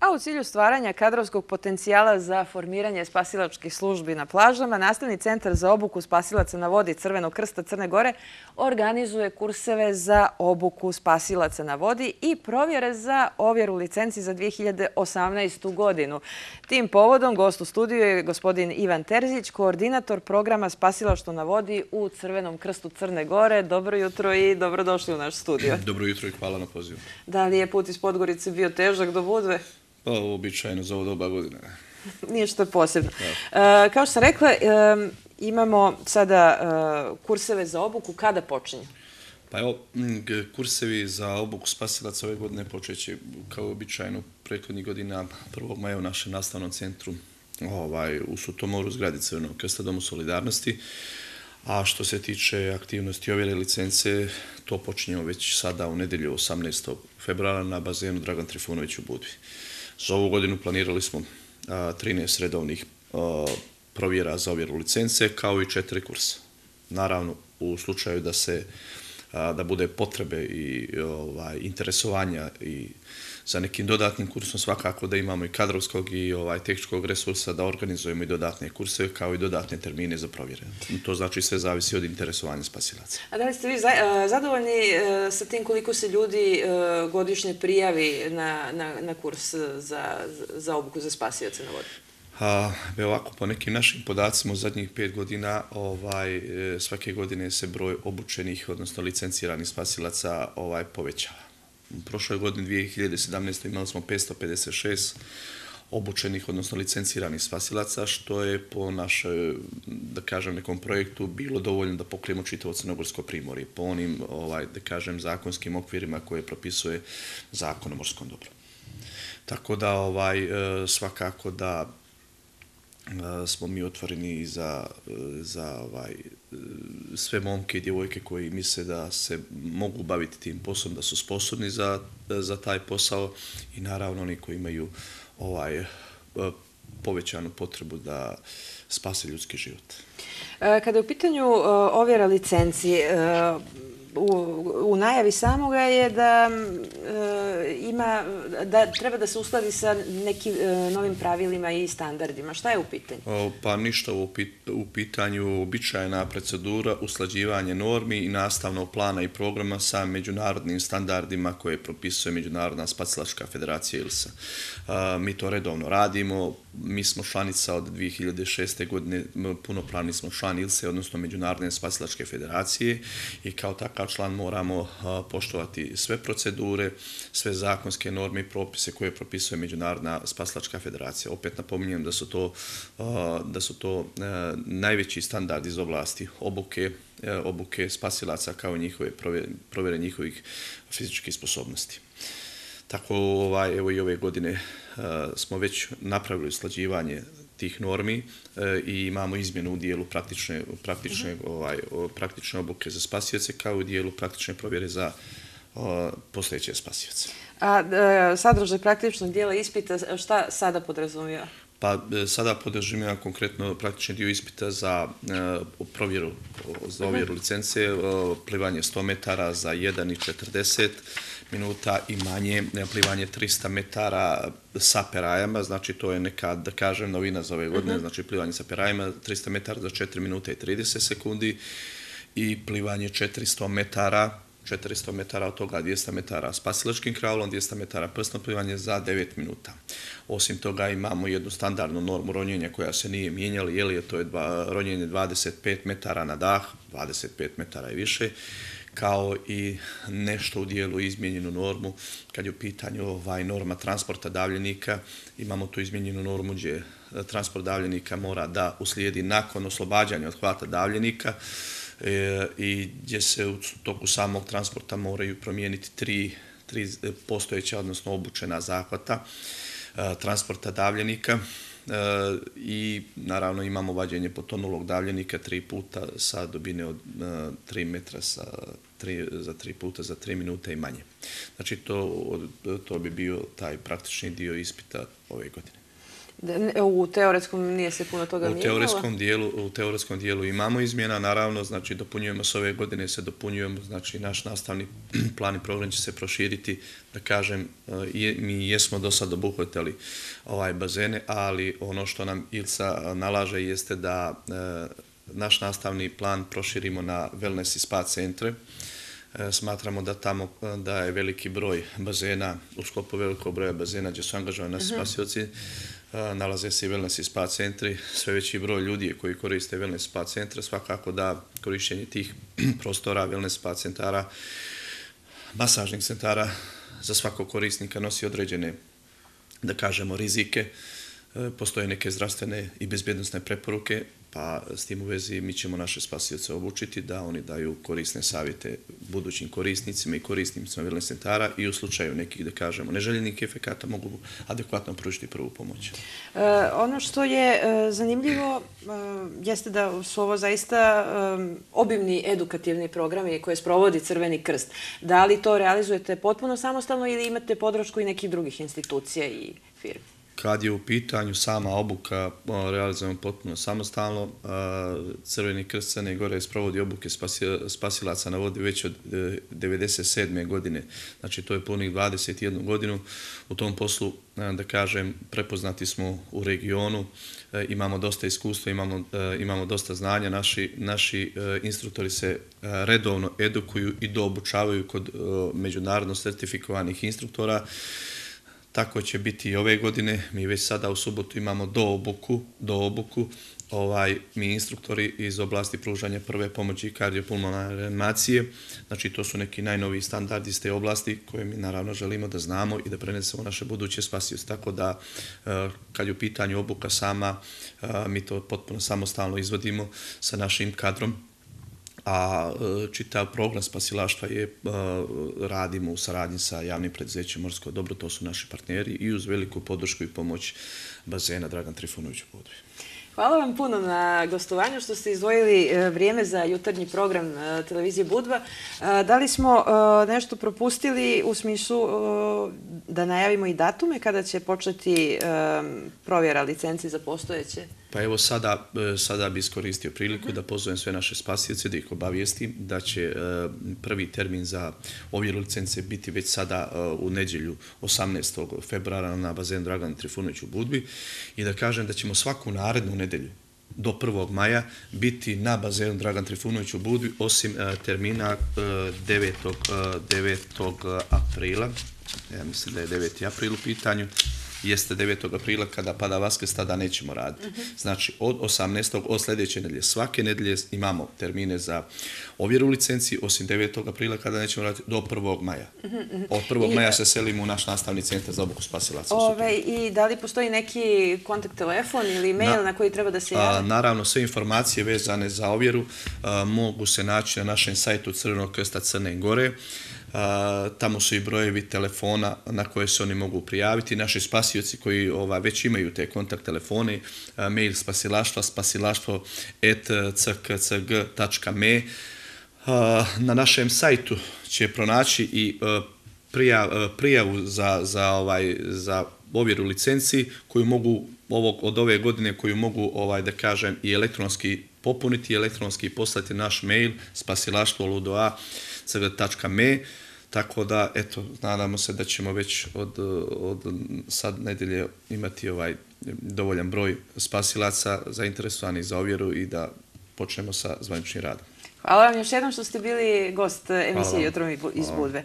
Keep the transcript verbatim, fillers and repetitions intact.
A u cilju stvaranja kadrovskog potencijala za formiranje spasilačkih službi na plažama, Nastavni centar za obuku spasilaca na vodi Crvenog krsta Crne Gore organizuje kurseve za obuku spasilaca na vodi i provjere za ovjeru licenci za dvije hiljade osamnaestu. godinu. Tim povodom gost u studiju je gospodin Ivan Terzić, koordinator programa spasilaštvo na vodi u Crvenom krstu Crne Gore. Dobro jutro i dobrodošli u naš studio. Dobro jutro i hvala na pozivu. Da li je put iz Podgorice bio težak do Budve? Pa, uobičajeno za ovo doba godine. Nije što je posebno. Kao što sam rekla, imamo sada kurseve za obuku. Kada počinju? Pa evo, kursevi za obuku spasilaca ove godine počeće kao uobičajeno prethodnih godina prvog maja u našem nastavnom centru u Sutomoru, zgradi Crvenog krsta, Domu solidarnosti. A što se tiče aktivnosti ovjere licence, to počinjemo već sada u nedelju osamnaestog februara na bazenu Dragan Trifunović u Budvi. Za ovu godinu planirali smo trinaest redovnih provjera za ovjeru licence, kao i četiri kursa. Naravno, u slučaju da se da bude potrebe i interesovanja i za nekim dodatnim kursom, svakako da imamo i kadrovskog i tehničkog resursa da organizujemo i dodatne kurse, kao i dodatne termine za provjere. To znači sve zavisi od interesovanja spasilaca. A da li ste vi zadovoljni sa tim koliko se ljudi godišnje prijavi na kurs za obuku za spasioce na vodi? Ovako, po nekim našim podacima u zadnjih pet godina svake godine se broj obučenih, odnosno licenciranih spasilaca povećava. U prošloj godini dvije hiljade sedamnaeste. imali smo petsto pedeset šest obučenih, odnosno licenciranih spasilaca, što je po našoj, da kažem, nekom projektu bilo dovoljno da pokrijemo čitavo Crnogorsko primorje, po onim, da kažem, zakonskim okvirima koje propisuje Zakon o morskom dobru. Tako da, svakako da smo mi otvoreni za sve momke i djevojke koji misle da se mogu baviti tim poslom, da su sposobni za taj posao i naravno oni koji imaju povećanu potrebu da spase ljudski život. Kada je u pitanju ovjera licenci, u najavi samoga je da ima, da treba da se uskladi sa nekim novim pravilima i standardima. Šta je u pitanju? Pa ništa u pitanju, običajna procedura, usklađivanje normi i nastavnog plana i programa sa međunarodnim standardima koje propisuje Međunarodna spasilačka federacija I L S A. Mi to redovno radimo, mi smo članica od dvije hiljade šeste. godine, punopravni smo član I L S A, odnosno Međunarodne spasilačke federacije i kao takav član moramo poštovati sve procedure, sve zakonske norme i propise koje propisuje Međunarodna spasilačka federacija. Opet napominjem da su to, da su to najveći standardi iz oblasti obuke, obuke spasilaca kao i njihove provjere njihovih fizičkih sposobnosti. Tako evo i ove godine smo već napravili usklađivanje tih normi i imamo izmjenu u dijelu praktične obuke za spasioce kao i u dijelu praktične provjere za postojeće spasioce. A sadržaj praktičnog dijela ispita šta sada podrazumijeva? Pa sada podrazumijeva konkretno praktični dio ispita za provjeru, za ovjeru licence, plivanje sto metara za jedan i četrdeset minuta i manje, plivanje trista metara sa perajama, znači to je neka, da kažem, novina za ove godine, znači plivanje sa perajama, trista metara za četiri minuta i trideset sekundi i plivanje četiristo metara, četiristo metara od toga dvjesto metara spasilačkim kraulom, dvjesto metara prsno plivanje za devet minuta. Osim toga imamo jednu standardnu normu ronjenja koja se nije mijenjala, je to je ronjenje dvadeset pet metara na dah, dvadeset pet metara i više, kao i nešto u dijelu izmijenjenu normu kad je u pitanju norma transporta davljenika. Imamo tu izmijenjenu normu gdje transport davljenika mora da uslijedi nakon oslobađanja od hvata davljenika i gdje se u toku samog transporta moraju promijeniti tri postojeća, odnosno obučena zahvata transporta davljenika i naravno imamo vađenje potonulog davljenika tri puta sa dubine od tri metra za tri puta za tri minute i manje. Znači to bi bio taj praktični dio ispita ove godine. U teoretskom nije se puno toga mijenjalo? U teoretskom dijelu, u teoretskom dijelu imamo izmjena, naravno, znači dopunjujemo s ove godine, se dopunjujemo, znači naš nastavni plan i program će se proširiti, da kažem, je, mi jesmo do sad obuhvatili ovaj bazene, ali ono što nam I L S A nalaže jeste da e, naš nastavni plan proširimo na wellness i spa centre. E, smatramo da tamo da je veliki broj bazena, u sklopu velikog broja bazena gdje su angažovani naši spasioci, nalaze se i wellness i spa centri, sve veći broj ljudi koji koriste wellness i spa centre, svakako da korištenje tih prostora, wellness spa centara, masažnih centara za svakog korisnika nosi određene, da kažemo, rizike. Postoje neke zdravstvene i bezbjednosne preporuke, pa s tim u vezi mi ćemo naše spasioce obučiti da oni daju korisne savjete budućim korisnicima i korisnicima wellness centara i u slučaju nekih, da kažemo, neželjenih efekata mogu adekvatno pružiti prvu pomoć. E, ono što je e, zanimljivo e, jeste da su ovo zaista e, obimni edukativni programi koje sprovodi Crveni krst. Da li to realizujete potpuno samostalno ili imate podršku i nekih drugih institucija i firmi? Kad je u pitanju sama obuka, realizujemo potpuno samostalno. Crveni krst Crne Gore sprovodi obuke spasilaca na vodi već od devedeset sedme godine. Znači, to je punih dvadeset jednu godinu. U tom poslu, da kažem, prepoznati smo u regionu, imamo dosta iskustva, imamo, imamo dosta znanja. Naši, naši instruktori se redovno edukuju i doobučavaju kod međunarodno sertifikovanih instruktora. Tako će biti i ove godine. Mi već sada u subotu imamo do obuku, do obuku ovaj, mi instruktori iz oblasti pružanja prve pomoći i kardiopulmonarne reanimacije. Znači, to su neki najnoviji standardi iz te oblasti koje mi naravno želimo da znamo i da prenesemo naše buduće spasioce. Tako da, kad je u pitanju obuka sama, mi to potpuno samostalno izvodimo sa našim kadrom. A čitav program spasilaštva je, radimo u saradnji sa javnim preduzećem Morsko dobro, to su naši partneri i uz veliku podršku i pomoć bazena Dragan Trifunović u Budvi. Hvala vam puno na gostovanju što ste izdvojili vrijeme za jutarnji program televizije Budva. Da li smo nešto propustili u smislu da najavimo i datume kada će početi provjera licenci za postojeće? Pa evo sada, sada bi iskoristio priliku da pozovem sve naše spasioce, da ih obavijestim da će prvi termin za ovjeru licence biti već sada u nedjelju osamnaestog februara na bazenu Dragan Trifunović u Budvi i da kažem da ćemo svaku narednu nedjelju do prvog maja biti na bazenu Dragan Trifunović u Budvi, osim termina devetog aprila, ja mislim da je deveti april u pitanju, jeste devetog aprila kada pada Vaskrs, tada nećemo raditi. Znači, od osamnaestog od sljedeće nedelje, svake nedelje imamo termine za ovjeru licenci, osim devetog aprila kada nećemo raditi, do prvog maja. Od prvog maja se selimo u naš nastavni centar za obuku spasilaca. I da li postoji neki kontakt telefon ili mail na koji treba da se javi? Naravno, sve informacije vezane za ovjeru mogu se naći na našem sajtu Crvenog krsta Crne Gore. Tamo su i brojevi telefona na koje se oni mogu prijaviti. Naši spasioci koji već imaju te kontakt telefone, mail spasilaštva, spasilaštvo et c k c g tačka m e. Na našem sajtu će pronaći i prijavu za ovjeru licenci koju mogu od ove godine koju mogu, da kažem, i elektronski popuniti, elektronski poslati naš mail spasilaštvo ludoa c g tačka m e. Tako da, eto, nadamo se da ćemo već od, od sad nedelje imati ovaj dovoljan broj spasilaca zainteresovanih za ovjeru i da počnemo sa zvaničnim radom. Hvala vam još jednom što ste bili gost emisije Jutro iz Budve.